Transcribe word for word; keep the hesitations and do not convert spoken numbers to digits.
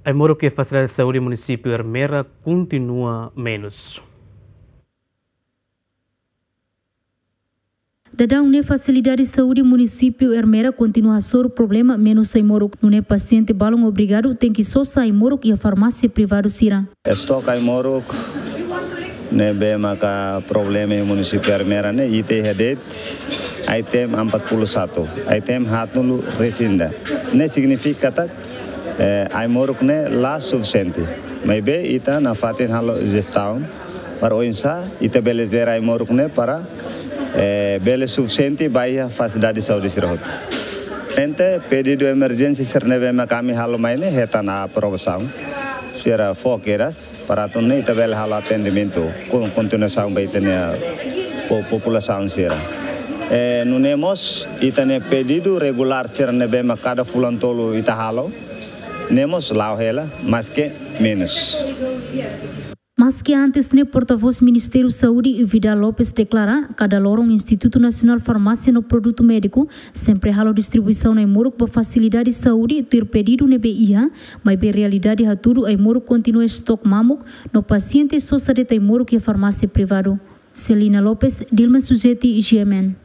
Ai-moruk iha fasilidade saúde munisípiu Ermera kontinua menus. Daudaun ne'e fasilidade saúde munisípiu Ermera kontinua hasoru problema menus ai-moruk. Nune'e pasiente balun obrigadu tenke sosa ai-moruk iha farmásia privadu sira. Estok ai-moruk ne'ebé maka problema iha munisípiu Ermera ne'e, ita iha de'it item empat puluh satu, item haat-nulu resin ida. Ne'e signifika katak, eh, ai-moruk ne'e la sufisiente. Maibé ita nafatin halo jestaun para oinsá ita bele jere ai-moruk ne'e para, eh, bele sufisiente ba iha fasilidade saúde sira hotu. Entaun pedidu emerjénsia sira ne'ebé maka ami halo mai ne'e hetan aprovasaun. Sira fó kedas para atu nune'e ita bele halo atendimentu kon-, kontinuasaun ba ita-nia po-, populasaun sira. Eh, nune'e mós ita-nia pedidu regulár sira ne'ebé maka kada fulan tolu ita halo, ne'e mós la'o hela, maske menus. Maske antes ne'e, portavós Ministériu Saúde, Vidal Lopes, deklara kada loron Institutu Nasionál Farmásia no Produtu Médiku sempre halo distribuisaun ai-moruk ba fasilidade saúde tuir pedidu ne'ebé iha, maibé realidade hatudu ai-moruk kontinua estok mamuk, no pasiente sosa de'it ai-moruk iha farmásia privadu. Celina Lopes, Dilma Suzeti, G M N.